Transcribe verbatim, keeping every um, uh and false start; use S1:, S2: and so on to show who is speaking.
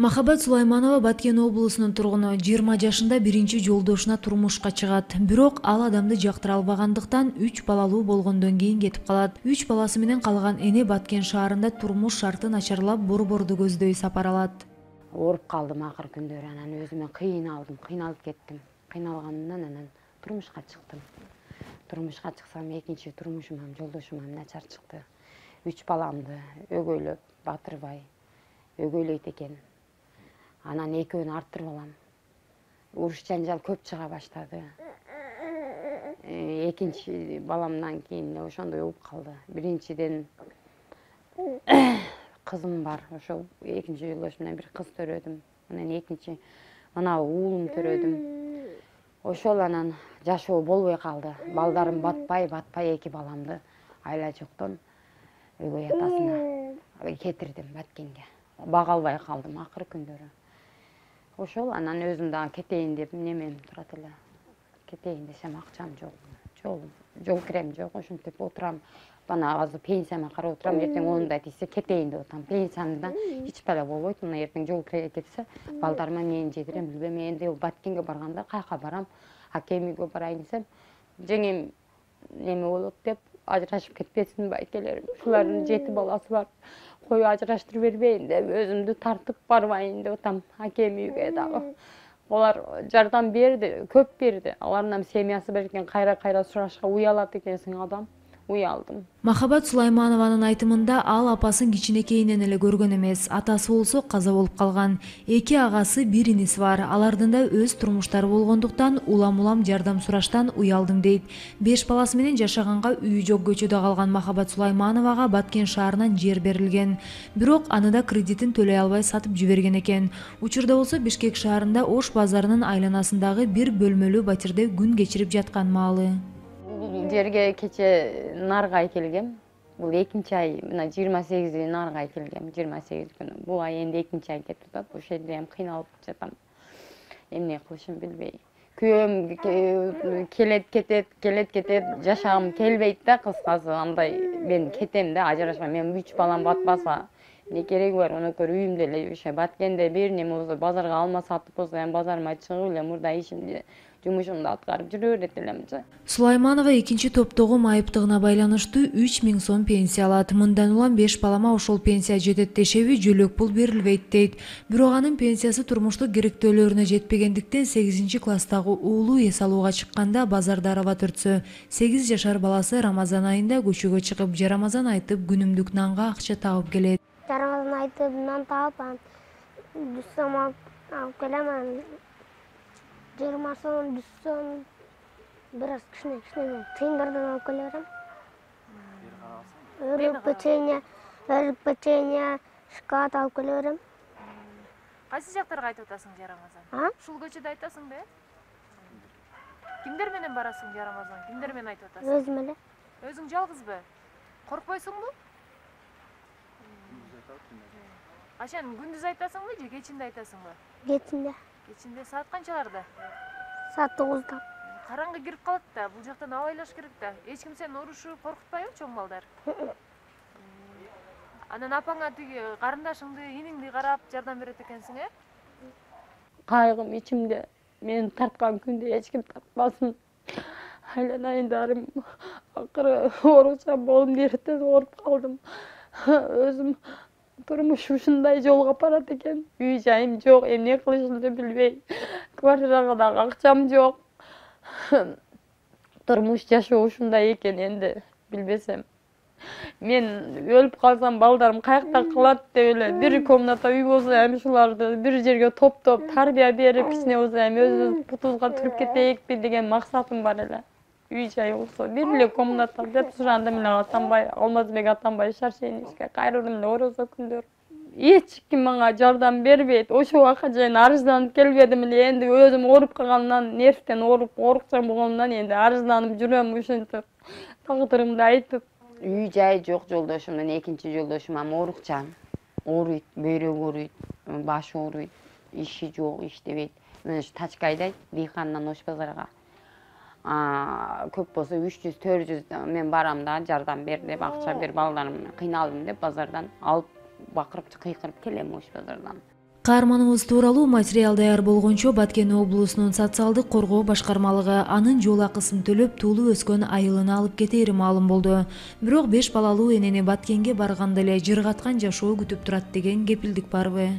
S1: Махабат Сулайманова Баткен облусунун тургуну, жыйырма жашында биринчи жолдошуна турмушка чыгат. Бирок ал адамды жактыра албагандыктан үч балалуу болгондон кийин кетип калат. үч баласы менен калган эне Баткен шаарында турмуш шарты начарлап борборду көздөй сапар алат.
S2: Ооруп калдым акыр күндөрү, анан өзүмө кыйналдым, кыйналып кеттим. Кыйналганымдан анан турмушка чыктым. Турмушка чыксам экинчи турмушум, жолдошум начар чыкты. Үч баламды өгөйлөп батырбай өгөйлөйт экен. Анан экөөнү арттырып алам. Уруш жанжал көп чыга баштады. Экинчи баламдан кийин ошондой болуп калды. Биринчиден кызым бар, ошо экинчи жолдошумдан бир кыз төрөдүм. Анан экинчи мына уулум төрөдүм. Ошол анан жашоо болбой калды. Балдарым батпай, батпай эки баламды айла жоктон өгөй атасына кетирдим Баткенге. Бага албай калдым акыр күндөрү. Ошол анан өзүм дагы кетейин деп немем турат эле. Кетейин десем акчам жок. Жол жол кирем жок, ошентип отурам. Бана азыр пенсияма карап отурам, эртең онундай тийсе кетейин деп атам. Пенсиямда эч бала болбойт. Мына эртең жол кире кетсе, балдарыма эмнени жедирем билбейм. Энди Баткенге барганда каяка барам? Акем үйгө барайын десем, жеңем неме болот деп ажырашып кетпесин байкелерим. Ушулардын жети баласы бар. Кой ажыраштырып бербейин деп өзүмдү тартып барбайын деп атам акем үйгө дагы. Олар жардам берди, көп берди. Алардын семьясы берген кайра-кайра сурашка уялат экенсиң адам. Уялдым.
S1: Махабат Сулайманованын айтымында ал апасын кичинекейинен эле көргөн эмес. Атасы болсо каза болуп калган. Эки агасы, бир иниси бар. Алардын да өз турмуштары болгондуктан улам-улам жардам сураштан уялдым дейт. Беш баласы менен жашаганга үйү жок көчөдө калган Махабат Сулаймановага Баткен шаарынан жер берилген. Бирок аны да кредитин төлөй албай сатып жиберген экен. Учурда болсо Бишкек шаарында Ош базарынын айланасындагы бир бөлмөлүү батирде күн кечирип жаткан маалы.
S2: Жерге кече наргай келгем. Бул экинчи ай, мына жыйырма сегизи наргай келгем, жыйырма сегиз күнү. Бул ай энди экинчи ай кетип атат. Ошол жерде ham кыйналып жатам. Эмне кылышымды билбей. Күйөөм келет кетет, келет кетет, жашагым келбейт да, кыскасы андай мен кетем да, ажырашам. Мен үч балам батпаса, эмне кереги бар? Өнөкөр үйүмдө эле ошо Баткенде бир неме болсо, базарга алма сатып болсо, эми базарыма чыгып эле мурда ишимди жумушумду аткарып жүрө берет элемчи.
S1: Сулайманова экинчи топтогу майыптыгына байланыштуу үч миң сом пенсия алат. Мындан улам беш балама ошол пенсия жетет дешеби, жөлөк пул берилбейт дейт. Бирок анын пенсиясы турмуштук керектөөлөрүнө жетпегендиктен сегизинчи класстагы уулу эс алууга чыкканда базарда араба төртсө, сегиз жашар баласы Рамазан айында көчөгө чыгып, жарамазан айтып күнүмдүк нанга акча табып келет.
S3: Жарамазан айтып нан таап, жүз сом алып келем. жыйырма сом, жүз сом, бир аз кичине-кичине тыйындардан алып келе берем. Өрүк печенье, өрүк печенье, шоколад алып келе берем.
S4: Кайсы жактарга айтып атасың жарамазан? Ушул көчөдө айтасыңбы? Кимдер менен барасың жарамазан? Кимдер менен айтып атасың?
S3: Өзүм эле.
S4: Өзүң жалгызбы? Коркпойсуңбу? Качан күндүз айтасыңбы же кечинде айтасыңбы?
S3: Кечинде.
S4: Кечинде саат канчаларда?
S3: Саат тогузда.
S4: Караңгы кирип калат да, бул жактан абайлаш керек да. Эч ким сени урушуп коркутпайбы, чоң балдар? Анан апаңа тиги карындашыңды, иниңди карап жардам берет экенсиң, э?
S2: Кайгым ичимде. Мен тарткан күндө эч ким тартпасын. Айланайын дарым. Акыры оорусам болдум, эртең ооруп калдым. Өзүм турмуш ушундай жолго барат экен. Үй жайым жок, эмне кылышымды билбей. Квартирага дагы акчам жок. Турмуш жашоо ушундай экен энди, билбесем. Мен өлүп калсам балдарым каякта кылат деп эле бир комната үй болсо, эми ушуларды бир жерге топтоп, тарбия берип, кичине болсо эми өзүбүз бутубузга туруп кетейикпи деген максатым бар эле. Үй жай болсо, бир эле комната деп сурандым эле Атамбай, Алмазбек Атамбай Шаршеничке кайрылдым эле орозо күндөр. Эч ким мага жардам бербейт. Ошол убакка чейин арызданып келбедим эле. Энди өзүм ооруп калгандан, нервтен ооруп, оорукчан болгондон энди арызданып жүрөм ушинтип. Тагдырымды айтып. Үй жай жок жолдошумдун, экинчи жолдошум ам оорукчан. Ооруйт, бөйрөгү ооруйт, башы ооруйт, иши жок, иштебейт. Мен ушу тачка айдайт, Бийхандан Ош базарга. Көп болсо үч жүз төрт жүз мен барам да, жардам бер деп, акча бер, балдарым кыйналдым деп базардан алып бакырып кыйкырып келем Ош базардан.
S1: Каарманыбыз тууралуу материал даяр болгончо Баткен облусунун социалдык коргоо башкармалыгы анын жол акысын төлөп туулуп өскөн айылына алып кетери маалым болду. Бирок беш балалуу энени Баткенге барганда эле жыргаткан жашоо күтүп турат деген кепилдик барбы?